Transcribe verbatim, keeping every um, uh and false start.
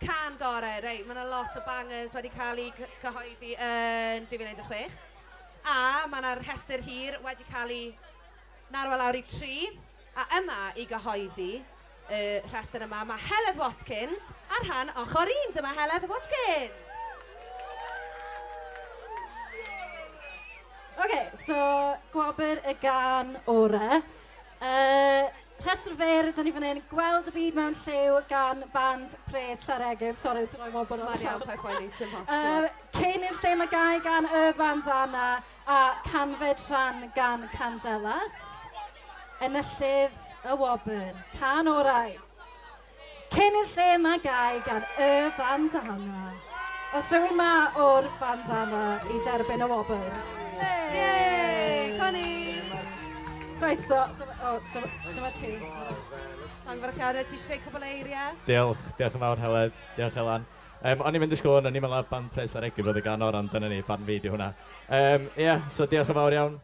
Can gorau, reit, mae yna lot o bangers wedi cael eu cyhoeddi yn dwy fil un deg chwech. A mae yna rhestr hir wedi cael ei narwa lawr i tri. A yma i gyhoeddi y rhestr yma, mae Heledd Watkins ar rhan ochr un. Dyma Heledd Watkins. OK, so gwobr y gan orau. Uh, Rhestr fer, da ni fan hyn, Gweld y Byd Mewn Lliw gan band Pres Llareggub. Sori, sy'n rhoi wobr o'r Mae'n iawn, paid poeni, dim ots. Uh, Cyn i'r Lle Mae Gau gan Y Bandana a Canfed Rhan gan Candelas. Enillydd y wobr, can orau. Cyn i'r Lle Mae Gau gan Y Bandana. Os rhywun ma o'r Bandana i dderbyn y wobr. Yay! Connie! Croeso, dyma, oh, dyma, dyma ti. Llongyfarchiadau, ti eisiau dweud cwbl eiriau? Diolch, diolch yn fawr Heledd, diolch Elan. Um, o'n i'n mynd i sgôn, o'n i'n meddwl band Pres Llareggub oedd y gan oran, dyna ni, barn fi di hwnna. Ie, um, yeah, so diolch yn fawr iawn.